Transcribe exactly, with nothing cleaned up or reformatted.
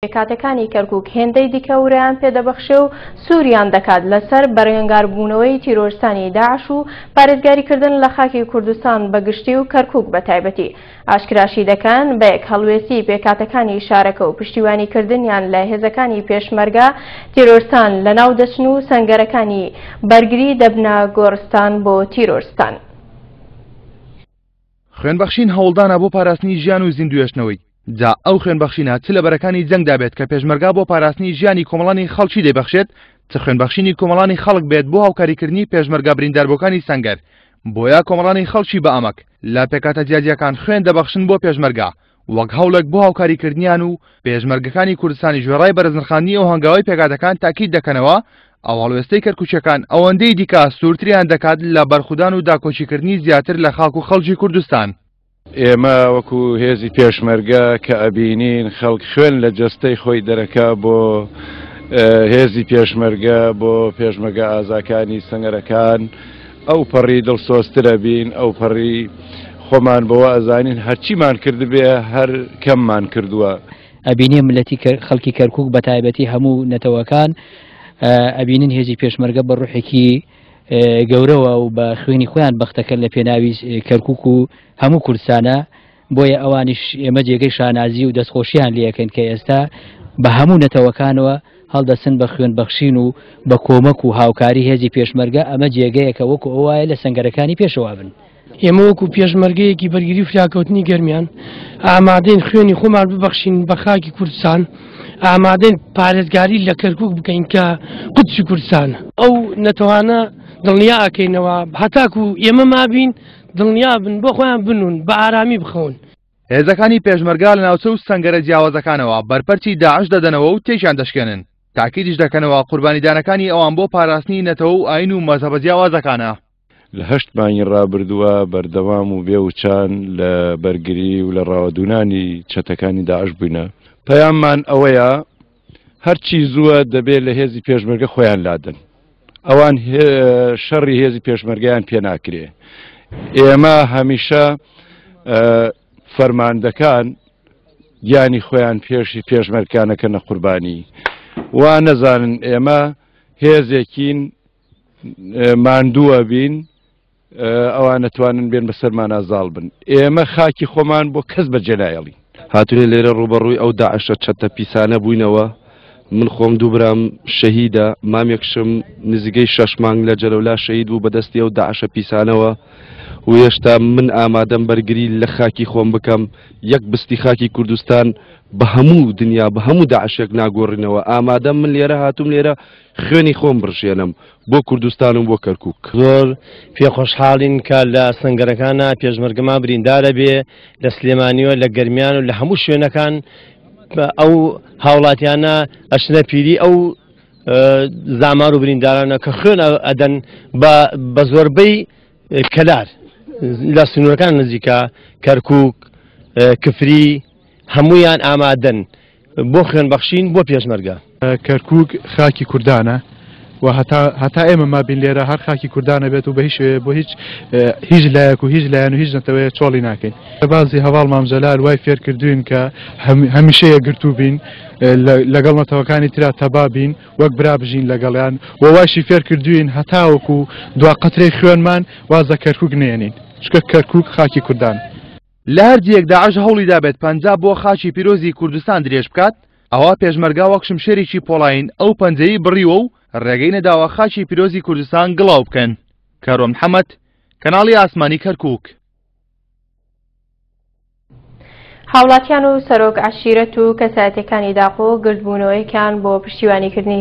پێکهاتەکانی کەرکوک هێندەی دیکە ورەیان پێدەبەخشێ و سووریان دەکات لەسەر بەرەنگاربوونەوەی تیرۆرستانی داعش و پارێزگاریکردن لە خاکی کوردستان بەگشتی و کەرکوک بە تایبەتی. ئاشکراشی دەکەن بە یەک هەڵوێستی پێکهاتەکانی شارەکە و پشتیوانیکردنیان لە هێزەکانی پێشمەرگە تیرۆرستان لەناو دەچن و سەنگەرەکانی بەرگری دەبنە گۆڕستان بۆ تیرۆرستان. خوێنبەخشین هەوڵدانە بۆ پاراستنی ژیان و زیندوێشتنەوەی. جا ئەو خوێنبەخشینە چ لە بەرەکانی جەنگدا بێت کە پێشمەرگا بۆ پاراستنی ژیانی کۆمەڵانی خەڵکی دەیبەخشێت، چ خوێنبەخشینی کۆمەڵانی خەڵک بێت بۆ هاوکاریکردنی پێشمەرگا برینداربووەکانی سەنگەر. بۆیە کۆمەڵانی خەڵکی بە ئەمەک لە پێکهاتە جیاجیاکان خوێن دەبەخشن بۆ پێشمەرگا وەک هەوڵێک بۆ هاوکاریکردنیان و پێشمەرگەکانی کوردستانی ژێڕای بەرزنرخاندنی ئەو هەنگاوی پێکهاتەکان تاکید دەکەنەوە ئەو هەڵوێستەی کەرکوچەکان ئەوەندەی دیکە سوورتریان دەکات لە بەرخودان و داکۆکیکردنی زیاتر لە خاک و خەڵکی کوردستان. ئێمە وەکو هێزی پێشمەرگە کە ئەبینین خەڵک خوێن لە جەستەی خۆی دەرەکا بۆ هێزی پێشمەرگە، بۆ پێشمەرگە ئازاکانی سەنگەرەکان، ئەو پەڕی دڵسۆزترە بین، ئەو پەڕی خۆمان بەوە ئەزانین هەرچیمان کردبێ هەر کەممان کردووە. ئەبینێ ملەتی خەڵکی کەرکوک بە تایبەتی هەموو نەتەوەکان ئەبینن هێزی پێشمەرگە بە ڕوحێکی گەورەوە و بە خوێنی خۆیان بەختەکەن لە پێناوی کەرکوک و هەموو کوردستانە. بۆیە ئەوانیش ئێمە جێگەی شانازی و دەستخۆشیان لێەکەن کە ئێستا بە هەموو نەتەوەکانەوە هەڵدەسن بە خوێن بەخشین و بە کۆمەک و هاوکاری هێزی پێشمەرگە. ئەمە جێگەیەکە وەکو ئەوایە لە سەنگەرەکانی پێشەوە بن. ئێمە وەکو پێشمەرگەیەکی بەرگری فریاکەوتنی گەرمیان ئامادەین خوێنی خۆمان ببەخشین بە خاکی کوردستان، ئامادەین پارێزگاری لە کەرکوک بکەین کە قودسی کوردستانە. ئەو نەتەوانە دڵنیا ئەکەینەوە هەتاکو ئێمە مابین دڵنیا بن بۆ خۆیان بنون بە ئارامی بخەون. هێزەکانی پێشمەرگا لە ناوچە و سەنگەرە جیاوازەکانەوە بەرپەرچی داعش دەدەنەوە و تێکیان دەشکێنن. تاکیدیش دەکەنەوە قوربانیدانەکانی ئەوان بۆ پاراستنی نەتەوە و ئاین و مەزهەبە جیاوازەکانە. لە هەشت مانگی ڕابردووە بەردەوام و بێوچان لە بەرگری و لە ڕاوەدوونانی چەتەکانی داعش بووینە. پەیاممان ئەوەیە هەرچی زووە دەبێت لە هێزی پێشمەرگە خۆیان لادەن. ئەوان شەڕی هێزی پێشمەرگەیان پێ ناکرێ. ئێمە هەمیشە فەرماندەکان گیانی خۆیان پێشی پێشمەرگانەکەنە قوربانی. وا نەزانن ئێمە هێزێکین ماندووە بین، ئەوان نەتوانن بێن بەسەرمانە زاڵ بن. ئێمە خاکی خۆمان بۆ کەس بەجێ نایەڵین. هاتوێ لێرە ڕوبەڕووی ئەو داعشە چەتە پیسانە بووینەوە. من خۆم دوو برام شەهیدە، مامێکشم نزیکەی شەش مانگ لە جەلەولا شەهید بوو بەدەستی ئەو داعشە پیسانەوە و هێشتا من ئامادەم بەرگری لە خاکی خۆم بکەم. یەک بستی خاکی کوردستان بە هەموو دنیا بە هەموو داعشێک ناگۆڕینەوە. ئامادەم من لێرە هاتوم لێرە خوێنی خۆم بڕژێنم بۆ کوردستان و بۆ کەرکوک. زۆر پێخۆشحاڵین کە لە سەنگەرەکانە پێشمەرگەمان بریندارە بێ لە سلێمانیوە، لە گەرمیان و لە هەموو شوێنەکان ئەو هاوڵاتیانە ئەشنە پیری ئەو زامار و بریندارانە کە خوێن ئەدەن بە زۆربەی کەلار لە سنوورەکان نزیکە کەرکوک، کفری، هەمویان ئامادەن بۆ خوێن بەخشین بۆ پێشمەرگە. کەرکوک خاکی کوردانە و هەتا ئێمە مابین لێرە هەر خاکی کوردانە بێت و بە هیچ بۆ هیچ هیچ لایەک و هیچ لایەن و هیچ نەتەوەیە چۆڵی ناکەین. بازی هەواڵ مام جەلال وای فێرکردوین کە هەمیشە یەکگرتوو بین، لەگەڵ نەتەوەکانی ترا تەبا بین، وەک برا بژین لەگەڵیان و وایشی فێرکردوین هەتاوەکو دوا قەترەی خوێنمان وازە کەرکوک نێنین، چونکە کەرکوک خاکی کوردان. لە هەر جێیەک داعش هەوڵی دابێت پەنجا بۆ خاکی پیرۆزی کوردستان درێژ بکات، ئەوە پێشمەرگا وەک شمشێرێکی پۆڵاین ئەو پەنجەی بڕیوە و ڕێگەی نەداوە خاکی پیرۆزی کوردستان گڵاو بکەن. کارۆن محەممەد، کەناڵی ئاسمانی کەرکوک. هاوڵاتیان و سەرۆک عەشیرەت و کەسایەتەکانی داقۆ گردبوونەوەیەکیان بۆ پشتیوانیکردنی